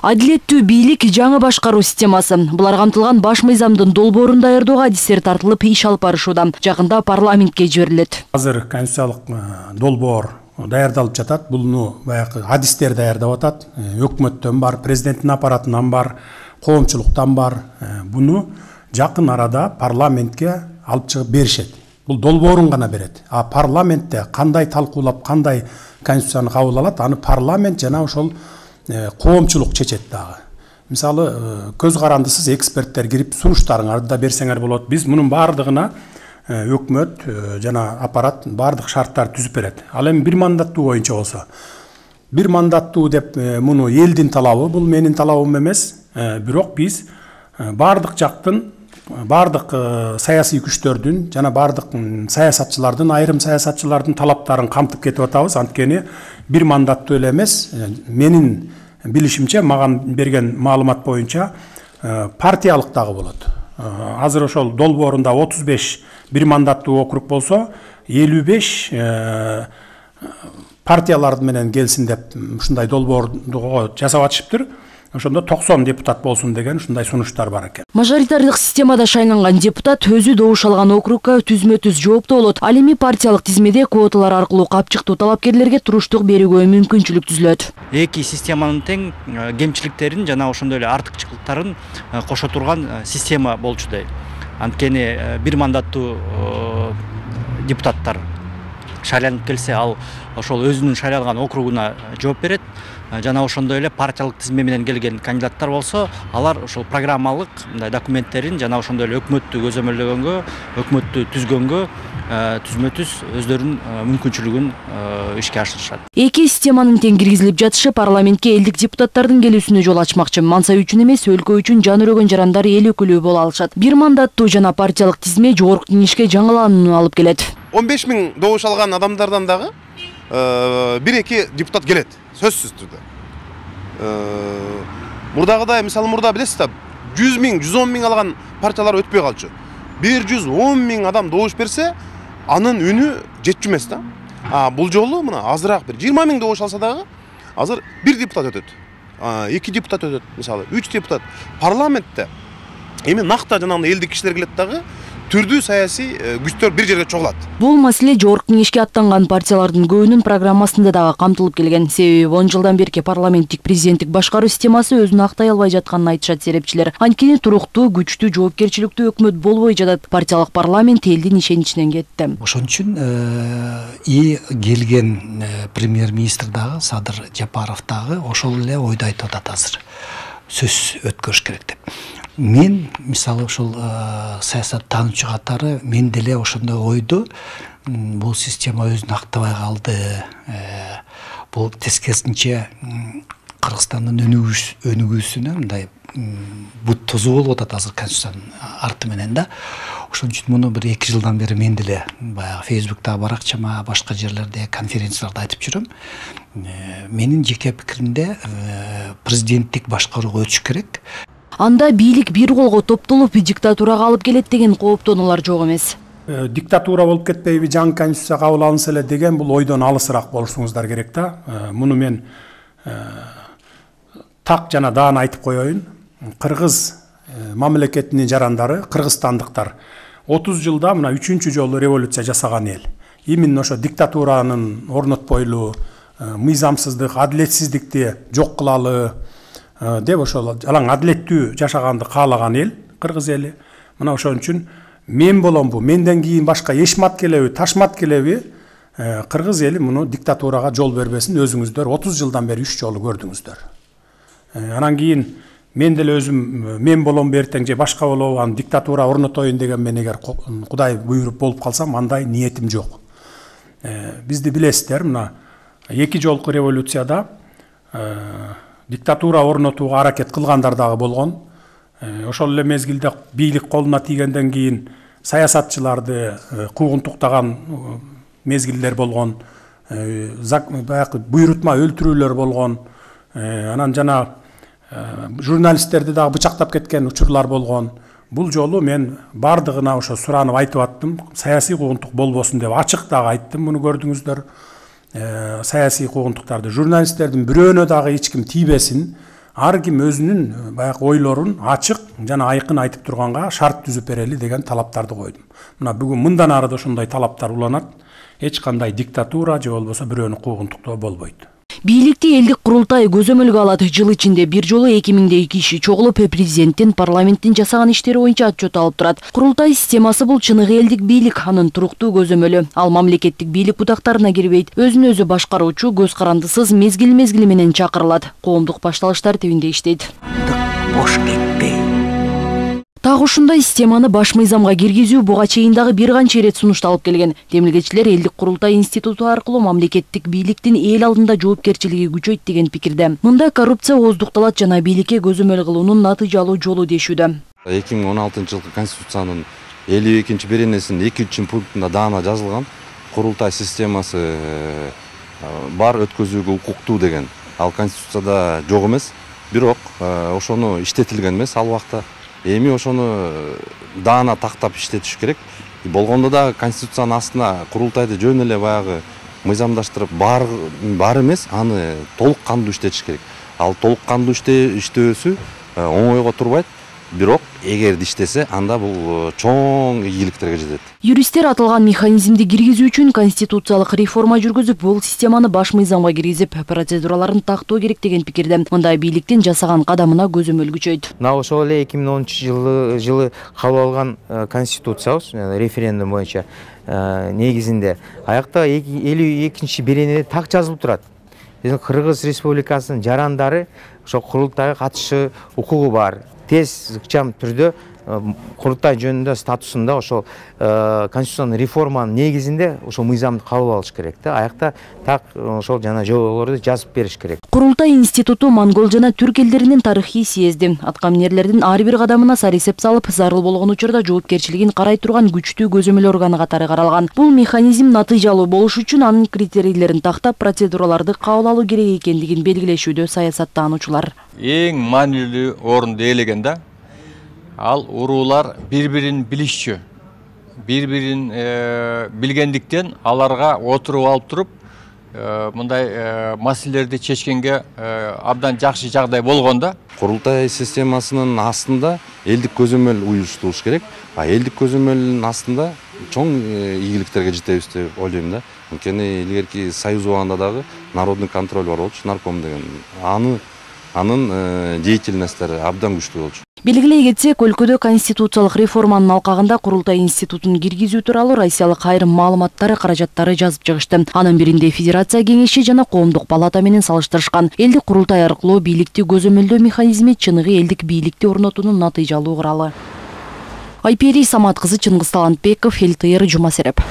Адилеттүү бийлик жаңы башкаруу системасы. Булар камтылган баш мыйзамдын долбоорун даярдоого адистер тартылып иш алып барышууда. Жакында парламентке жиберилет. Азыр конституциялык долбоор даярдалып жатат. Буну баягы адистер даярдап атат. Өкмөттөн бар, президенттин аппаратынан бар, коомчулуктан бар. Буну жакын арада парламентке алып чыгып беришет. Бул долбоорун гана берет. А парламентте кандай талкуулап, кандай конституцияны кабыл алат, аны парламент жана ошол коомчулук чечет дагы. Мисалы, көз карандысыз эксперттер кирип сунуштарыңарды да берсеңер болот. Биз мунун бардыгына өкмөт жана аппарат бардык шарттар түзүп берет. Ал эми бир мандаттуу боюнча болсо, бир мандаттуу деп муну элдин талабы, бул менин талабым эмес. Бирок биз бардык жактын, бардык саясий күчтөрдүн жана бардык саясатчылардын, айрым саясатчылардын талаптарын камтып кетип атабыз. Анткени бир мандаттуу эле эмес, менин билишимче, маган берген маалымат боюнча партиялык дагы болот. Азыр ошол долбоорунда 35 бир мандаттуу округ болсо, 55 партиялар менен келсин деп ушундай долбоорду жасап атышыптыр. Ошондо 90 депутат болсун деген ушундай сунуштар бар экен. Мажоритардык системада шайланган депутат өзү добуш алган округга түзмө-түз жооптуу болот. Ал эми партиялык тизмеде квоталар аркылуу капчыктуу талапкерлерге туруштук берүүгө мүмкүнчүлүк түзүлөт. Эки системанын тең кемчиликтерин жана ошондой эле артыкчылыктарын кошо турган система болчудай. Анткени бир мандаттуу депутаттар шайланып келсе, ал ошол өзүнүн шайланган округуна жооп берет. Жана ошондой эле партиялык тизме менен келген кандидаттар болсо, алар ошол программалык документтерин жана ошондой эле өкмөттү көзөмөлдөгөнгө, өкмөттү түзгөнгө түзмө-түз өздөрүнүн мүмкүнчүлүгүн ишке ашырышат. Эки системанын тең киргизилип жатышы парламентке элдик депутаттардын келүүсүнө жол ачмакчы. Мансап үчүн эмес, өлкө үчүн жан өрөгөн жарандар эл өкүлү боло алышат. Бир мандаттуу жана партиялык тизме жогорку кеңешке жаңыланууну алып келет. 15 000 добуш алган адамдардан дагы 1-2 депутат келет, сөзсүз түрдө. Мурдагыдай, мисалы мурда билесиз да, 100 000, 110 000 алган партиялар өтпөй калчу. 110 000 адам добуш берсе, анын үнү жетчү эмес да. Бул жолу мына азыраак бир 20 000 добуш алса дагы, азыр 1 депутат өтөт. 2 депутат өтөт, мисалы 3 депутат. Парламентте эми накта жанагындай элдик кишилер келет дагы, түрдүү саясий күчтөр бир жерге чогулат. Бул маселе жогорку кеңешке аттанган партиялардын көбүнүн программасында дагы камтылып келген. Себеби 10 жылдан берки парламенттик президенттик башкаруу системасы өзүн актай албай жатканын айтышат серепчилер. Анткени туруктуу, күчтүү, жоопкерчиликтүү өкмөт болбой жатат. Партиялык парламент элдин ишеничинен кетти. Ошон үчүн келген премьер-министр дагы, Садыр Жапаров дагы ошол эле ойду айтып атат азыр. Сөз өткөрүш керек деп. Мен, мисалы, ошол саясат таануучу катары, мен деле ошондой ойду, бул система өзүн актабай калды. Бул тескерисинче Кыргызстандын өнүгүүсүнө мындай бут тозуу болуп атат азыр конституциянын арты менен да. Ошон үчүн муну бир 2 жылдан бери мен деле баягы Фейсбукта, баракчама, башка жерлерде, конференцияларда айтып жүрөм. Менин жеке пикиримде президенттик башкарууга өтүш керек. Анда бийлик бир колго топтолуп диктатурага алып келет деген кооптонуулар жок эмес. Диктатура болуп кетпейби, жаңы конституция кабыл алынса эле деген бул ойдон алысыраак болушуңуздар керек да. Муну мен так жана даана айтып коеюн. Кыргыз мамлекетинин жарандары, кыргызстандыктар 30 жылда мына 3-чү жолу революция жасаган эл. Именно ошо диктатуранын орнотпойлу, мыйзамсыздык, адилетсиздикти жок кылалы деп ошол алаң адилеттүү жашаганды каалаган эл, кыргыз эли. Мына ошон үчүн мен боломбу, менден кийин башка эшмат келеби, ташмат келеби, кыргыз эли муну диктатурага жол бербесин. Өзүңүздөр 30 жылдан бери 3 жолу көрдүңүздөр. Анан кийин мен деле өзүм мен боломбу эртең же башка болобу, аны диктатура орнотоюн деген мен эгер Кудай буйруп болуп калсам, андай ниетим жок. Бизди билесиздер, мына 2 жолку революцияда диктатура орнотууга аракет кылгандар дагы болгон. Ошол эле мезгилде бийлик колуна тийгенден кийин саясатчыларды куугунтуктаган мезгилдер болгон. Баягы буйрутма өлтүрүүлөр болгон. Анан жана журналисттерди дагы бычактап кеткен учурлар болгон. Бул жолу мен бардыгына ошо суранып айтып аттым. Саясий куугунтук болбосун деп ачык дагы айттым. Муну көрдүңүздөр. Саясий куугунтуктарды журналисттердин бирөөнө дагы эч ким тийбесин. ар ким өзүнүн баягы ойлорун ачык жана айкын айтып турганга шарт түзүп берели деген талаптарды койдум. Мына бүгүн мындан ары да ошондой талаптар уланат. Эч кандай диктатура же болбосо бирөөнү куугунтуктоо болбойт. Бийликти элдик курултай көзөмөлгө алат. Жыл ичинде бир жолу 2000 киши чогулуп президенттин, парламенттин жасаган иштери боюнча отчет алып турат. Курултай системасы бул чыныгы элдик бийлик, анын туруктуу көзөмөлү. Ал мамлекеттик бийлик бутактарына кирбейт. Өзүн өзү башкаруучу көз карандысыз мезгил менен чакырылат. Коомдук башталыштар тибинде иштейт. Бош кетпей. Так ушундай системаны баш мыйзамга киргизүү буга чейин дагы бир канча ирет сунушталып келген. Демилгечилер элдик курултай институту аркылуу мамлекеттик бийликтин эл алдында жоопкерчилиги күчөйт деген пикирде. Мында коррупция ооздукталат жана бийликке көзөмөл кылуунун натыйжалуу жолу дешүүдө. 2016-жылкы Конституциянын 52-беренесинин 2-3 пунктунда даана жазылган курултай системасы бар өткөзүүгө укуктуу деген. Ал Конституцияда жок эмес, бирок ошону иштетилген эмес ал убакта. Эми ошону даана тактап иштетиш керек. Болгондо да Конституциянын астына курултайды жөн эле баягы мыйзамдаштырып бар эмес, аны толук кандуу иштетиш керек. Ал толук кандуу иштөөсү оңойго турбайт. Бирок эгерде иштесе, анда бул чоң ийгиликтерге жетет. Юристтер аталган механизмди киргизүү үчүн конституциялык реформа жүргүзүп, бул системаны баш мыйзамга киргизип, процедураларын тактоо керек деген пикирде. Мындай бийликтин жасаган кадамына көзөмөл күчөйт. Мына ошол эле 2010-жылы кабыл алган конституциябыз референдум боюнча негизинде аякта 52-беренеде так жазылып турат. Биздин Кыргыз Республикасынын жарандары ошо курултайга катышы укугу бар. Тез ыкчам түрдө курултай жөнүндө статусунда ошол конституциянын реформанын негизинде ошол мыйзамды кабыл алыш керек да. Аякта так ошол жана жоболорду жазып бериш керек. Курултай институту монгол жана түрк элдеринин тарыхый съезди. Аткаминерлердин ар бир кадамына сарисеп салып, зарыл болгон учурда жоопкерчилигин карай турган күчтүү көзөмөл органы катары каралган. Бул механизм натыйжалуу болуш үчүн анын критерийлерин тактап, процедураларды кабыл алуу керек экендигин белгилешүүдө саясаттануучулар. Эң маанилүү орунду ээлеген да. Ал уруулар бири-бирин билишчү. Бири-бирин билгендиктен аларга отуруп алып туруп, мындай маселелерди чечкенге абдан жакшы жагдай болгондо. Курултай системасынын астында элдик көзөмөл уюштурулуш керек. Элдик көзөмөлдүн астында чоң ийгиликтерге жетебиз деп ойлойм да. Анткени илгерки Союз убагында дагы народный контроль бар болчу, нарком деген. Анын деятельносттери абдан күчтүү болчу. Белгилей кетсек, өлкөдө конституциялык реформанын алкагында курултай институтун киргизүү тууралуу Россиялык айрым маалыматтары, каражаттары жазып чыгышты. Анын биринде Федерация кеңеши жана Коомдук палата менен салыштырышкан. Элдик курултай аркылуу бийликти көзөмөлдөө механизми чыныгы элдик бийликти орнотуунун натыйжалуу куралы. Айпери Самат кызы, Чыңгыз Талантбеков, ЛТР, Жума Сереп.